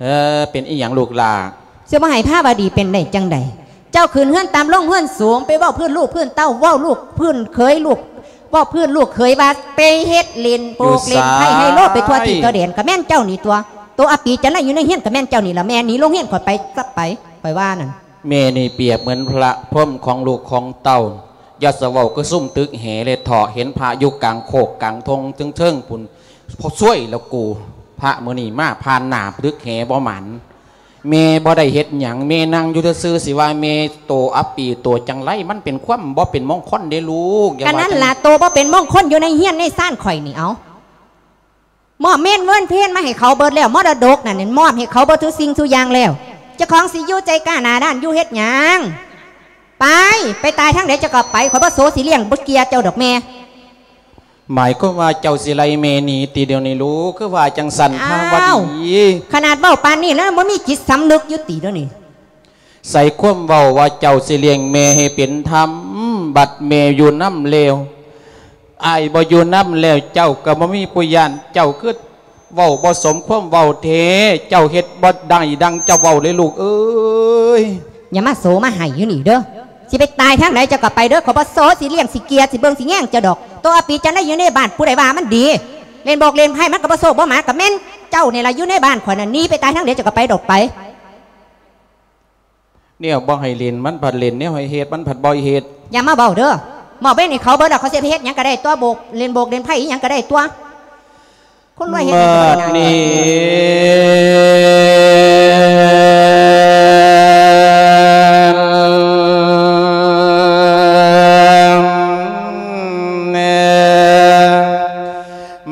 ເອີ ເປັນອີ່ຫຍັງລູກຫຼ້າ? ຊິບໍ່ໃຫ້ພາວະດີເປັນໄດ້ຈັ່ງໃດ? ເຈົ້າຂຶ້ນເຮືອນຕ່ຳລົງເຮືອນສູງ ໄປເວົ້າພື້ນລູກພື້ນເຕົ້າ ເວົ້າລູກພື້ນເຂີຍລູກ ເວົ້າພື້ນລູກເຂີຍວ່າໄປເຮັດຫຼິ້ນໂປກຫຼິ້ນໄພ້ໄຮໂລໄປທົ່ວທີ່ທົ່ວແດນ ກະແມ່ນເຈົ້ານີ້ຕົວະ. ໂຕອາປີຈັນໄລຢູ່ໃນເຮືອນກະແມ່ນເຈົ້ານີ້ລະ. ແມ່ໜີໂລງຮຽນຂ້ອຍໄປຊະໄປ ຂ້ອຍວ່ານັ້ນ. ແມ່ນີ້ປຽບເໝືອນພະພົມຂອງລູກຂອງເຕົ້າ. ຢ່າສະເວົ້າຄືຊຸມຕຶກແຫແລະເຖາະ ເຫັນພະຢູ່ກາງໂຄກກາງທົ່ງເທິງໆພຸ້ນ. ໂອ້ຍ ລະກູ ພະມື້ນີ້ມາຜ່ານໜ້າຕຶກແຫບໍ່ໝັ້ນ. ແມ່ບໍ່ໄດ້ເຮັດຫຍັງ ແມ່ນັ່ງຢູ່ຊື່ໆ ຊິວ່າແມ່ໂຕອັບປີໂຕຈັງໄລ ມັນເປັນຄວາມບໍ່ເປັນມົງຄົນເດ້ລູກ. ກະນັ້ນລະ ໂຕບໍ່ເປັນມົງຄົນຢູ່ໃນເຮືອນໃນຊານຂ້ອຍນີ້. ເອົາ ມອບເມນເວີນເພນມາໃຫ້ເຂົາເບິດແລ້ວ ມໍລະດົກນັ້ນ ມອບໃຫ້ເຂົາເບິດທຸກສິ່ງທຸກຢ່າງແລ້ວ. ເຈົ້າຂອງຊິຢູ່ໃຈກ້າໜ້າດ້ານຢູ່ເຮັດຫຍັງ? ໄປ ໄປຕາຍທາງໃດເຈົ້າກະໄປ ຂ້ອຍບໍ່ໂສຊິລ້ຽງບໍ່ເກຍເຈົ້າດອກແມ່. ໝາຍຄວາມວ່າເຈົ້າຊິໄລ່ແມ່ໜີຕິດຽວນີ້ລູກ? ຄືວ່າຈັ່ງຊັ້ນ ອ້າວ ພາວະດີ. ຂະໜາດເວົ້າປານນີ້ແລ້ວ ບໍ່ມີຈິດສຳນຶກຢູ່ຕິດຽວນີ້? ໃສ່ຄວາມເວົ້າວ່າເຈົ້າຊິລ້ຽງແມ່ໃຫ້ເປັນທຳ ບັດແມ່ຢູ່ນຳແລ້ວ ອ້າຍບໍ່ຢູ່ນຳແລ້ວ ເຈົ້າກະບໍ່ມີຜູ້ຢ້ານ. ເຈົ້າຄືເວົ້າບໍ່ສົມຄວາມເວົ້າແທ້ ເຈົ້າເຮັດບໍ່ໄດ້ດັ່ງເຈົ້າເວົ້າເລີຍລູກເອີຍ. ຢ່າມາໂສມາໄຫ້ຢູ່ນີ້ເດີ. ຊິໄປຕາຍທາງໃດເຈົ້າກະໄປເດີ ຂ້ອຍບໍ່ໂສຊິລ້ຽງຊິເກຍຊິເບິ່ງຊິແຍງເຈົ້າດອກ. ໂຕອາປີຈັນໄລຢູ່ໃນບ້ານ ຜູ້ໃດວ່າມັນດີ? ຫຼິ້ນໂບກຫຼິ້ນໄພ້ມັນກະບໍ່ໂຊກບໍ່ໝານ ກະແມ່ນເຈົ້ານີ້ລະຢູ່ໃນບ້ານຂ້ອຍນັ້ນ. ໜີໄປຕາຍທາງໃດເຈົ້າກະໄປໂລດໄປ. ແນວບໍ່ໃຫ້ຫຼິ້ນມັນພັດຫຼິ້ນ ແນວໃຫ້ເຮັດມັນພັດບໍ່ເຮັດ. ຢ່າມາເວົ້າເດີ. ມອບເວັນໃຫ້ເຂົາເບິດແລ້ວ ເຂົາຊິໄປເຮັດຫຍັງກະໄດ້ຕົວະ ໂບກ ຫຼິ້ນໂບກຫຼິ້ນໄພ້ອີ່ຫຍັງກະໄດ້ຕົວະ. ຄົນລວຍເຮັດຫຍັງກະບໍ່ໄດ້. ບັດນີ້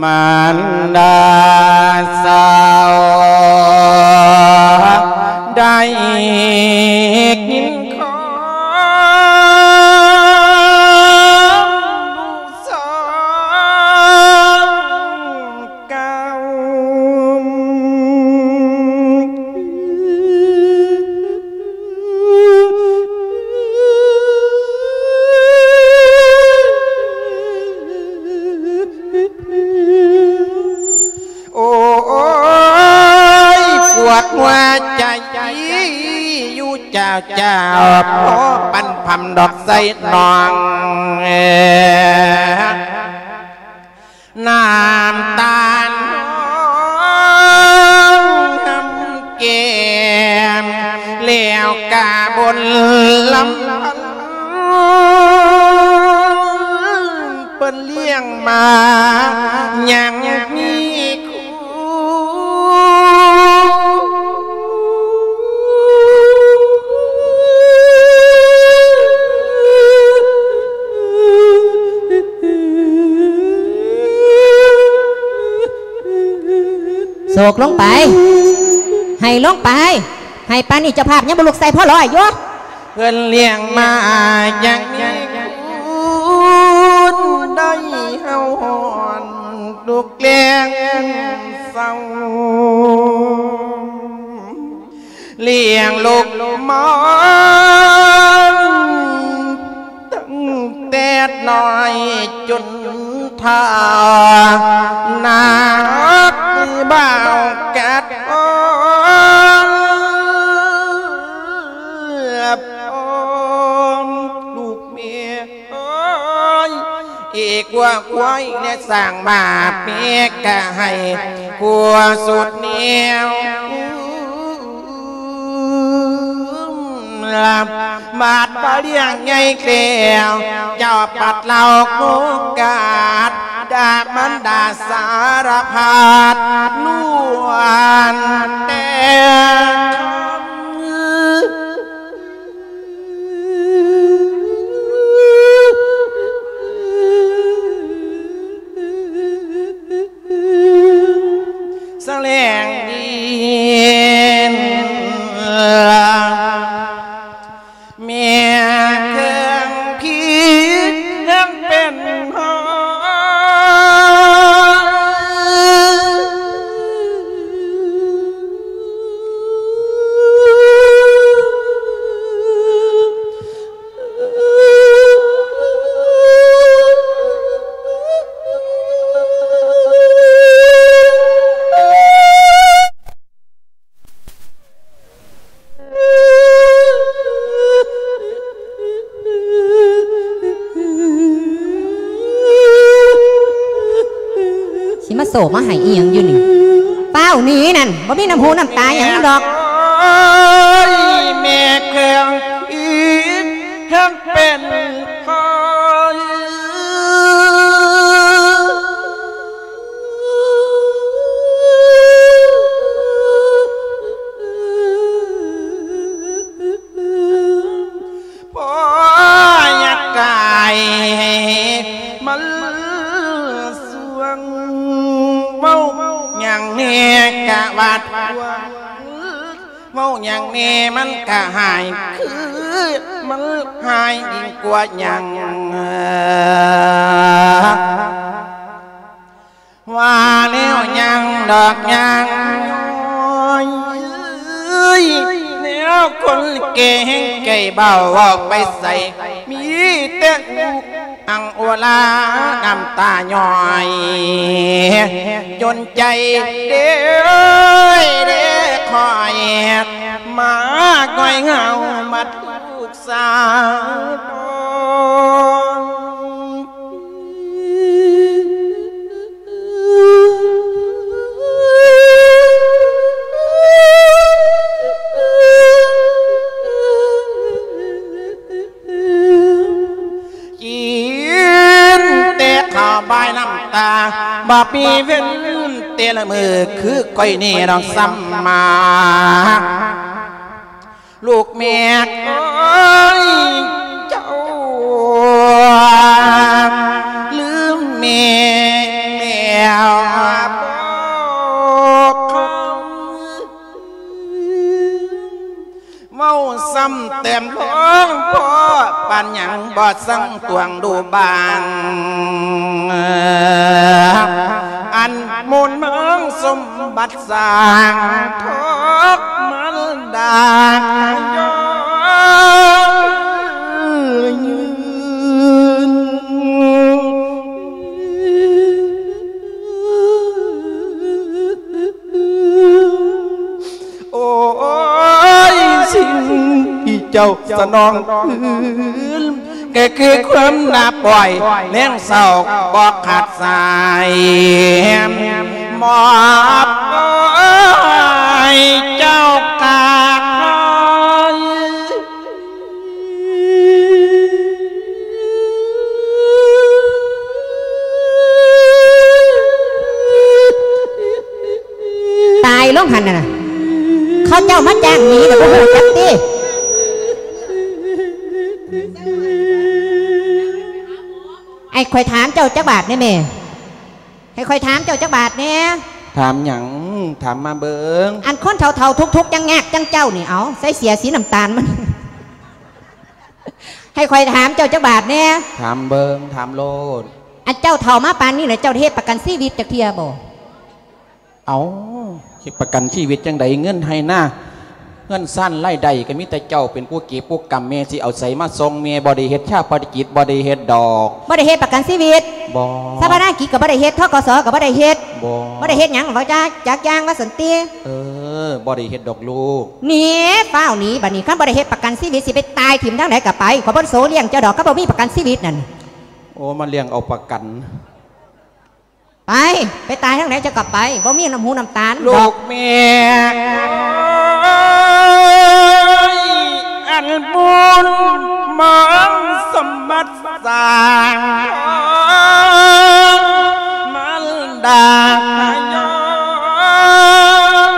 ມານດາສາວໄດ້ຍິນຄວາມລູກສາວ ກາວ ໂອ້ຍ ປວດຫົວໃຈຢູ່ເຈົ້າ ເຈົ້າ ພໍປັນພຳດອກໃສ່ນ້ອງ ນ້ຳຕານຮອງຫຳແກ້ມ ແລ້ວກະບົນລຳພັນ ເພິ່ນລ້ຽງມາຍັງມີຄຸນ. ໂສກລົງໄປ ໄຫ້ລົງໄປ ໄຫ້ປານນີ້ເຈົ້າພາບຍັງບໍ່ລຸກໃສ່ພໍຮ້ອຍຢູ່. ເພິ່ນລ້ຽງມາຢ່າງມີຄຸນ ໄດ້ເຮົາຮ້ອນທຸກແລງເສົ້າ ລ້ຽງລູກມາຕັ້ງແຕ່ນ້ອຍຈົນ ຖ້າໜາກບ່າວກັດອ່ອນ ລູກແມ່ເອີຍ ເອກວ່າຄວາຍແລະສ້າງມາເປກະໃຫ້ ກວ່າສຸດແນວ ບາດວ່າລ້ຽງໃຫຍ່ແລ້ວ ເຈົ້າປັດເລົ່າໂອກາດ ດາກມັນດາສາລະພັດ ລ້ວນແຕ່ ສະແຫຼງດີນ ແມ່ເຄື່ອງພິດຍັງເປັນຫອຍ. ໂຕມາໃຫ້ອີ່ຫຍັງຢູ່ນີ້? ຟ້າວໜີນັ້ນ ບໍ່ມີນ້ຳຫູນ້ຳຕາຫຍັງດອກ. ໂອ້ຍ ແມ່ແຂວງອີກແຮງເປັນໄຂ້ ພໍຢາກຕາຍມັນສວງ ເວົ້າຫຍັງແດ່ກະວ່າທວງ ເວົ້າຫຍັງແດ່ມັນກະຫາຍ ຄືມັນຫາຍຍິ່ງກວ່າຫຍັງ. ວ່າແລ້ວຍັງດອກຍັງ ໂອ້ຍ ແນວຄົນແກ່ແຮງໃຈເບົາ ເວົ້າໄປໃສມີແຕ່ອຸອັ່ງໂອລາ ນ້ຳຕາຍ້ອຍ ຈົນໃຈເດ້ ເດ້ຄ່ອຍ ມາງ່ອຍເຫງົາ ມາທຸກສາ ກິນແຕ່ເຂົ້າບາຍນ້ຳຕາ ບໍ່ມີເວັ້ນແຕ່ລະມື້ ຄືຂ້ອຍນີ້ດອກສ່ຳມາ ລູກແມ່ເອີຍ ເຈົ້າລືມແມ່ແລ້ວບໍ່ຄຳ ເວົ້າຊ້ຳແຕ້ມລອງພໍ ປານຫຍັງບໍ່ສັ່ງຕວງດູບາງ ອັນມູນເມືອງສົມບັດ ສ້າງທອກມັນດາກະຍ້ອນຍືນ ໂອ້ຍ ສິ່ງທີ່ເຈົ້າສະໜອງຄືນ ກໍຄືຄວາມໜ້າປ່ອຍ ແລງເສົ້າບໍ່ຂາດສາຍ ມອບໃຫ້ເຈົ້າກາບໃຫ້ ຕາຍລົງຫັ້ນນະ ເຂົາເຈົ້າມາຈ້າງໜີນະ ບໍ່ຮູ້ຈັກຕິ. ໃຫ້ຂ້ອຍຖາມເຈົ້າຈັກບາດແດ່ແມ່ ໃຫ້ຂ້ອຍຖາມເຈົ້າຈັກບາດແດ່. ຖາມຫຍັງ? ຖາມມາເບິ່ງ. ອັນຄົນເຖົ້າໆ ທຸກໆ ຍາກໆ ຈັ່ງເຈົ້ານີ້ ເອົາ ໃສ່ເສື້ອສີນ້ຳຕານມັນ ໃຫ້ຂ້ອຍຖາມເຈົ້າຈັກບາດແດ່. ຖາມເບິ່ງ ຖາມໂລດ. ອັນເຈົ້າເຖົ້າມາປານນີ້ແລ້ວ ເຈົ້າໄດ້ເຮັດປະກັນຊີວິດຈັກເທື່ອບໍ່? ເອົາ ເຮັດປະກັນຊີວິດຈັ່ງໃດ? ເງິນໄຮ່ນາ ເຮືອນຊານລາຍໄດ້ກໍມີແຕ່ເຈົ້າເປັນຜູ້ເກັບຜູ້ກຳ, ແມ່ຊິເອົາໃສມາສົ່ງ? ແມ່ບໍ່ໄດ້ເຮັດຊາປະນະກິດ, ບໍ່ໄດ້ເຮັດດອກ. ບໍ່ໄດ້ເຮັດປະກັນຊີວິດ? ບໍ່. ຊາປະນະກິດກໍບໍ່ໄດ້ເຮັດ, ທກສ ກໍບໍ່ໄດ້ເຮັດ. ບໍ່. ບໍ່ໄດ້ເຮັດຫຍັງ? ເວົ້າຈາກ ຈັກຢ່າງວ່າຊັ້ນຕິ. ເອີ ບໍ່ໄດ້ເຮັດດອກລູກ. ໜີ ຟ້າວໜີ ບັດນີ້ ຄັນບໍ່ໄດ້ເຮັດປະກັນຊີວິດ ຊິໄປຕາຍຖິ້ມທາງໃດກໍໄປ, ຂ້ອຍບໍ່ໂສລ້ຽງເຈົ້າດອກ ຄັນບໍ່ມີປະກັນຊີວິດນັ້ນ. ໂອ້ ມາລ້ຽງເອົາປະກັນ. ໄປ ໄປຕາຍທາງໃດເຈົ້າກໍໄປ, ບໍ່ມີນ້ຳຫູນ້ຳຕານດອກ. ລູກແມ່ເອີຍ ອັນບຸນມັນສົມບັດສ້າງ ມັນດາກະຍ້ອນ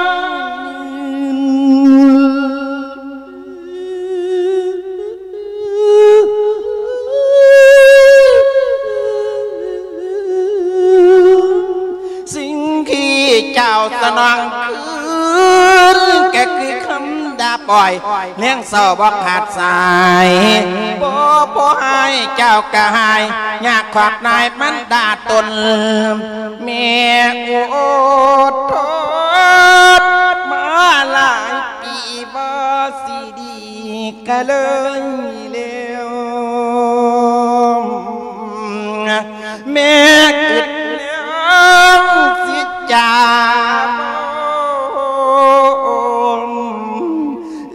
ສິ່ງທີ່ເຈົ້າສະໜອງຄືນ ກໍຄືຄຳດາບອ້ອຍ ແລງເສົ້າບໍ່ຂາດສາຍ. ບໍ່ພໍໃຫ້ເຈົ້າກະຫາຍ ຍາກຂອບນາຍມັນດາຕົນ. ແມ່ອົດທົນມາຫຼາຍປີ ບໍ່ຊິດີກະເລີຍແລ້ວ. ແມ່ອຶດແລ້ວຊິຈາບໍ່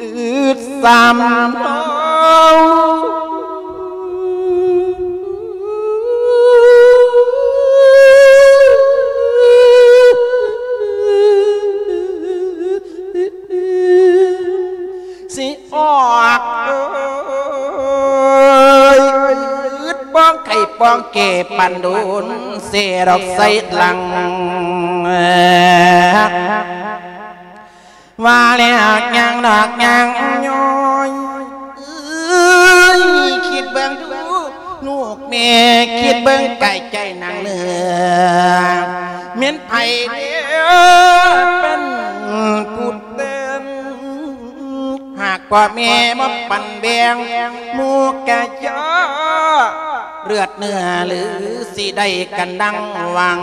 ອຶດຊ້ຳເນາະ. ອກເອີຍ ປອງໄກ່ປອງແກ່ປານໂດນ ເສດອກໃສ່ຫຼັງ ວ່າແລ້ວຍ່າງດອກຍ່າງຍ້ອຍ ເອີຍ ຄິດເບິ່ງດູ ລູກແມ່ ຄິດເບິ່ງກາຍໃຈນາງເໜືອ ແມ່ນໃຜເດີເປັນຜູ້ເຕັ້ນ ຫາກພໍ່ແມ່ບໍ່ປັນແບ່ງ ໝູ່ກະເຈາະເລືອດເນື້ອ ຫຼືຊິໄດ້ກັນດັ່ງຫວັງ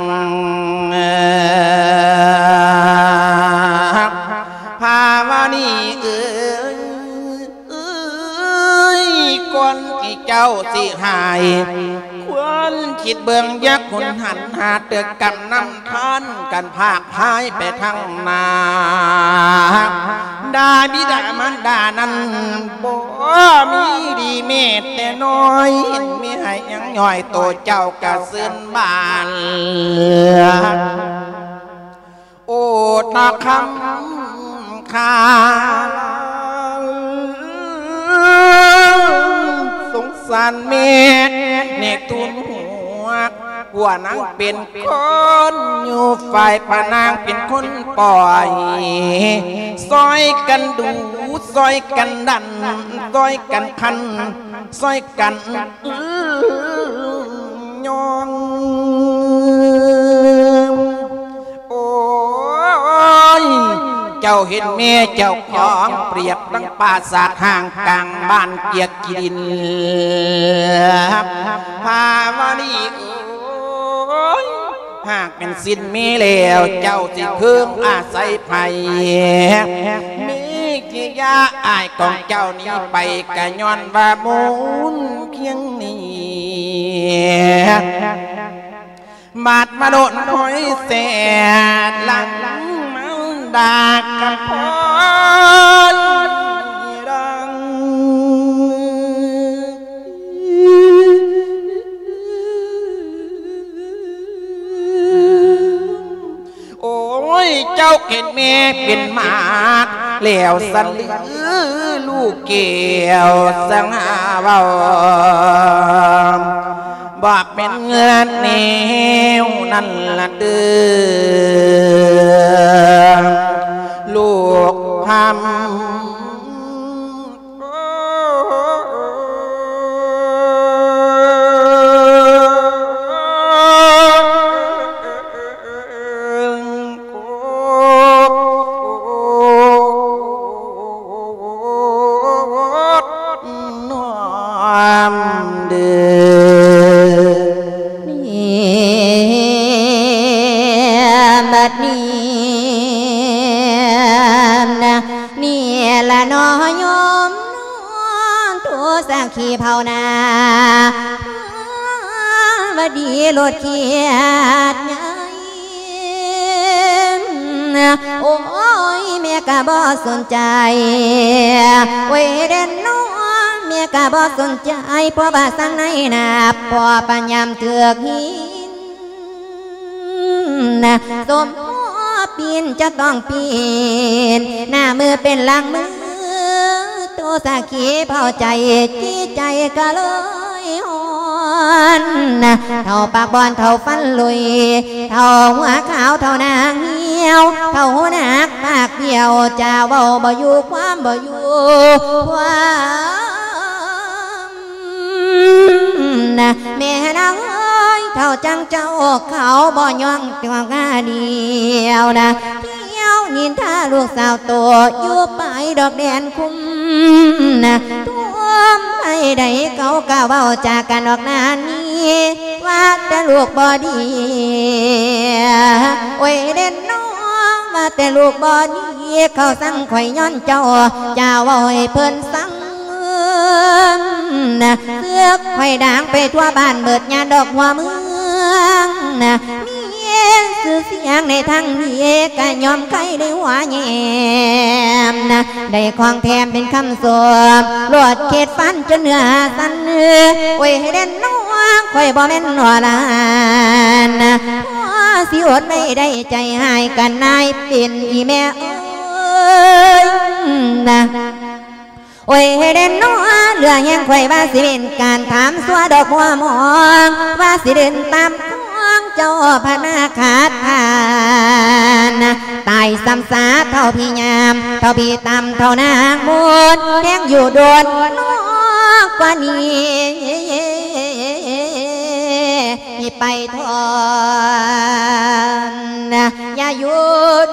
ພາວະນີເອີຍ ເອີຍ ກ່ອນທີ່ເຈົ້າຊິຫາຍ ຄວນຄິດເບິ່ງຢ່າຄຸນຫັນ ຫາເຕີກຳນຳທານກັນພາກພາຍໄປທາງໜ້າ ດາບິດາມານດານັ້ນບໍ່ມີດີແມ້ແຕ່ນ້ອຍ ເຫັນແມ່ໃຫ້ຍັງຍ້ອຍໂຕເຈົ້າກະຊື່ນບານ ໂອດນະຄຳຄາ ສົງສານແມ່ ແນກທູນຫົວ ຜົວນາງເປັນຄົນຢູ່ ຝ່າຍພະນາງເປັນຄົນປ່ອຍ ຊ່ອຍກັນດູ ຊ່ອຍກັນດັນ ຊ່ອຍກັນຄັນ ຊ່ອຍກັນຍ້ອງ ໂອ້ຍ ເຈົ້າເຫັນແມ່ເຈົ້າຂອງ ປຽບດັ່ງປາສາດຮ້າງກາງບ້ານກຽກຂີ້ດິນ ພາວະນີເອີຍ ຫາກແມ່ນສິ້ນມີແລ້ວ ເຈົ້າຊິເພິ່ງອາໄສໃຜ ມີກິລິຍາອ້າຍຂອງເຈົ້າໜີໄປ ກະຍ້ອນວ່າມູນຄຽງນີ້ ບາດມາໂດນຫ້ອຍແສດ ຫຼັງມາດາກະພອນດັງ ໂອ້ຍ ເຈົ້າເຫັນແມ່ເປັນໝາກແລ້ວສັນຫຼື ລູກແກ້ວສັງຫາເວົ້າ ບໍ່ແມ່ນເງິນແນວນັ້ນລະເດີ ລູກພຳ ນ້ອມເດີ ນີ້ ບັດນີ້ນະ ນີ້ລະເນາະໂຍມເນາະ ໂຕສັກຂີເຜົ່ານາ ຫວັດດີໂລດຂຽດໃຫຍ່ ໂອ້ຍ ແມ່ກະບໍ່ສົນໃຈ ໂອ້ຍເດ້ເນາະ ແມ່ກະບໍ່ສົນໃຈ ເພາະວ່າສັງໃນນາ ເພາະປານຍາມຖືກຫີນ ສົມພໍປີນຈະຕ້ອງປີນ ໜ້າມືເປັນຫຼັງມື ໂຕສັກຂີເຜົາໃຈ ຈິດໃຈກະເລີຍຮ້ອນ ເຖົ້າປາກບອນ ເຖົ້າຟັນຫຼຸຍ ເຖົ້າຫົວຂາວ ເຖົ້າໜ້າຫ່ຽວ ເຖົ້າຫູໜັກປາກບຽວ ຈາເວົ້າບໍ່ຢູ່ ຄວາມບໍ່ຢູ່ ຄວາມ ນະ ແມ່ນາງເອີຍ ເຖົ້າຈັ່ງເຈົ້າເຂົາບໍ່ຍ້ອງຕົວງາດຽວນະ ທ່ຽວນິນທາລູກສາວໂຕ ຢູ່ປາຍດອກແດນຄຸ້ມນະ ທົ່ວມໃຜໃດເຂົາກະເວົ້າຈາກັນອອກໜ້ານີ້ ວ່າແຕ່ລູກບໍ່ດີ ໂອ້ຍເດ້ເນາະ ວ່າແຕ່ລູກບໍ່ດີ ເຂົາສັງຂ້ອຍຍ້ອນເຈົ້າ ຈາເວົ້າໃຫ້ເພິ່ນສັງ ນະ ເສືອກຂ້ອຍດັງໄປທົ່ວບ້ານເບີດຍາດອກຫົວເມືອງນະ ມີຊື່ສຽງໃນທາງດີກະຍອມໄຄໄດ້ຫົວແຍມນະ ໄດ້ຂອງແຖມເປັນຄຳຊົມ ໂລດເຂດຟັນຈົນເນື້ອສັ່ນ ໂອ້ຍ ໃຫ້ເດັ່ນນ້ອງ ຂ້ອຍບໍ່ແມ່ນຫົວຫຼານນະ ພໍຊິອົດໄວ້ໄດ້ໃຈຮ້າຍກັນນາຍເປັນອີແມ່ເອີຍນະ. ແຕ່ເນາະ ເລື່ອງແຮງຂ້ອຍວ່າຊິເປັນການຖາມຊົ່ວດອກມົວມອງ ວ່າຊິເດີນຕາມຂອງເຈົ້າພະນາຄາທ່ານ ຕາຍຊ້ຳຊາເທົ່າພີ່ຍາມ ເທົ່າພີ່ຕ່ຳ ເທົ່ານາງມົນ ແຮງຢູ່ດົນນອກກວ່ານີ້ ໃຫ້ໄປທອນ ຢ່າຢູ່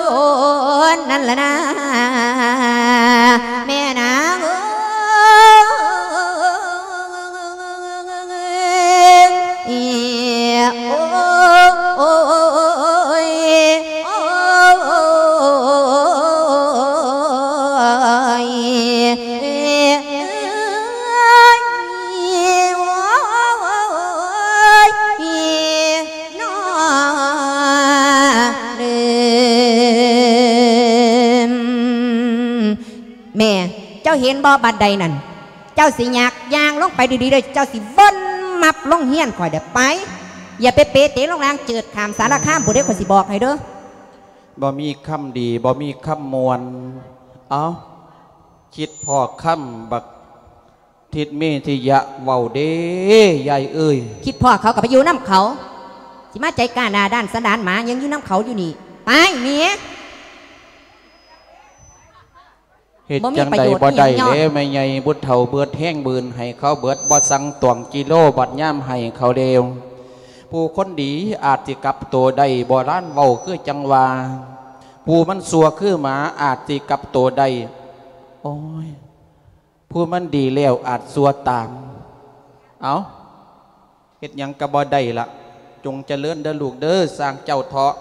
ດົນນັ້ນລະນາ ແມ່ນາງເອີຍ ໂອ້ຍ ໂອ້ຍ ໂອ້ຍ ເນາະ ແມ່ ເຈົ້າເຫັນບໍ່ ບັນໄດນັ້ນ ເຈົ້າຊິຍາກຍ່າງລົງໄປດີໆເດີ ເຈົ້າຊິວົນມັບລົງເຮືອນຂ້ອຍເດີ ໄປ ຢ່າໄປເປເຕລົງລ່າງເຈີດຂ້າມສາລະຄາມພຸ້ນເດີ ຂ້ອຍຊິບອກໃຫ້ເດີ. ບໍ່ມີຄຳດີ ບໍ່ມີຄຳມ່ວນ ເອົ້າ ຄິດພໍ້ຄຳບັກ ທິດເມທິຍະເວົ້າເດ້ ຍາຍເອີຍ. ຄິດພໍ້ເຂົາກໍໄປຢູ່ນຳເຂົາ ຊິມາໃຈກ້າໜ້າດ້ານສັນດານໝາຫຍັງຢູ່ນຳເຂົາຢູ່ນີ້ ໄປເມຍ. ເຮັດຈັ່ງໃດບໍ່ໄດ້ແລ້ວ ແມ່ໃຫຍ່ ບຸດເຖົ້າເບິດແຮງບືນໃຫ້ເຂົາເບິດ ບໍ່ສັ່ງຕວງກິໂລ ບັດຍາມໃຫ້ເຂົາແລ້ວ ຜູ້ຄົນດີອາດຊິກັບໂຕໄດ້ ໂບລານເວົ້າຄືຈັ່ງວ່າ ຜູ້ມັນຊົ່ວຄືໝາອາດຊິກັບໂຕໄດ້ ໂອ້ຍ ຜູ້ມັນດີແລ້ວອາດຊົ່ວຕາມ. ເອົ້າ ເຮັດຫຍັງກໍບໍ່ໄດ້ລະ ຈົ່ງຈະເລີນເດີລູກເດີ ຊ່າງເຈົ້າເຖາະ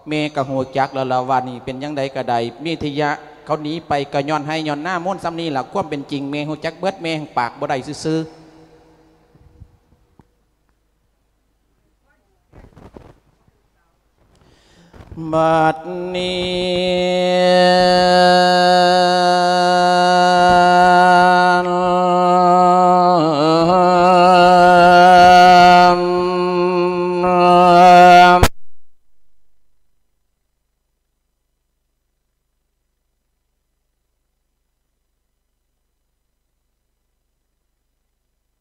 ແມ່ກໍຮູ້ຈັກແລ້ວລະວ່ານີ້ເປັນຈັ່ງໃດກໍໄດ້ ເມທິຍະເຂົາໜີໄປກໍຍ້ອນໄຮ່ຍ້ອນນາມູນສ່ຳນີ້ລະ ຄວາມເປັນຈິງແມ່ຮູ້ຈັກເບິດ ແມ່ແຮ່ງປາກບໍ່ໄດ້ຊື່ໆ. ບັດນີ້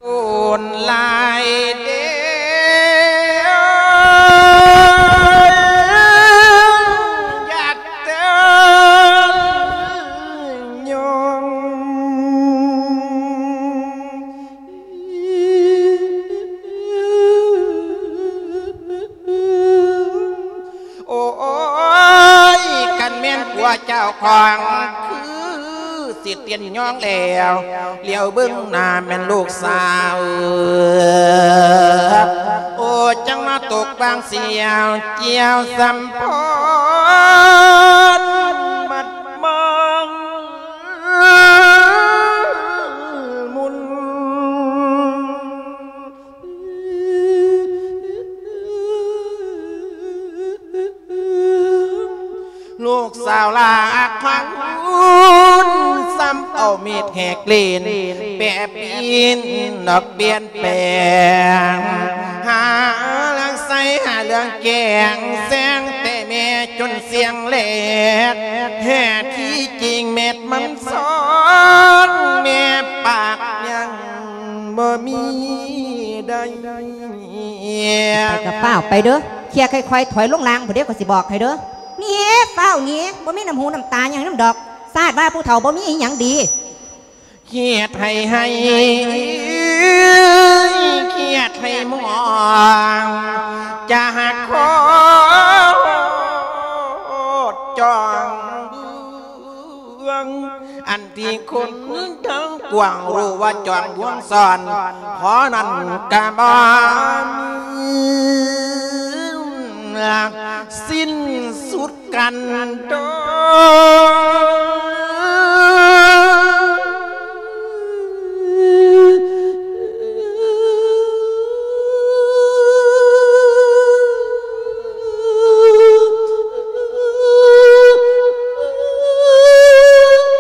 ໂດນຫຼາຍເດ້ ຢາກເຕີນຍອງ ໂອ້ຍ ຄັນແມ່ນຜົວເຈົ້າຂອງຄື ຊິເຕັ້ນຍ້ອງແລ້ວ ຫຼຽວເບິ່ງໜ້າແມ່ນລູກສາວ ໂອ້ ຈັ່ງມາຕົກບາງສຽວ ກ່ຽວສຳພໍນ ມັດມອງມຸນ ລູກສາວຫຼ້າຂວັນ ຊ້ຳເອົາມີດແຫກເລນ ແປປີ້ນດອກປ່ຽນແປງ ຫາເລື່ອງໃສຫາເລື່ອງແກງ ແຊງແຕ່ແມ່ຈົນສຽງແຫຼກ ແທ້ທີ່ຈິງແມ່ນມັນສອນ ແມ່ປາກຍັງ ບໍ່ມີໄດ້ ໄປກໍຟ້າວໄປເດີ ເຄີຍຄ່ອຍໆ ຖອຍລົງລ່າງພຸ້ນເດີ ຂ້ອຍຊິບອກໃຫ້ເດີ ໜີ ຟ້າວໜີ ບໍ່ມີນ້ຳຫູນ້ຳຕາຫຍັງນຳດອກ ຊາດວ່າຜູ້ເຖົ້າບໍ່ມີອີ່ຫຍັງດີ ຄຽດໃຫ້ໄຫ້ ຄຽດໃຫ້ມອງ ຈະຫັກໂຄດຈ້ອງເບືອງ ອັນທີ່ຄົນທັງກວາງຮູ້ວ່າຈອມບວງຊ້ອນ ພໍນັ້ນກະບໍ່ມີສິ້ນສຸດກັນດອກ.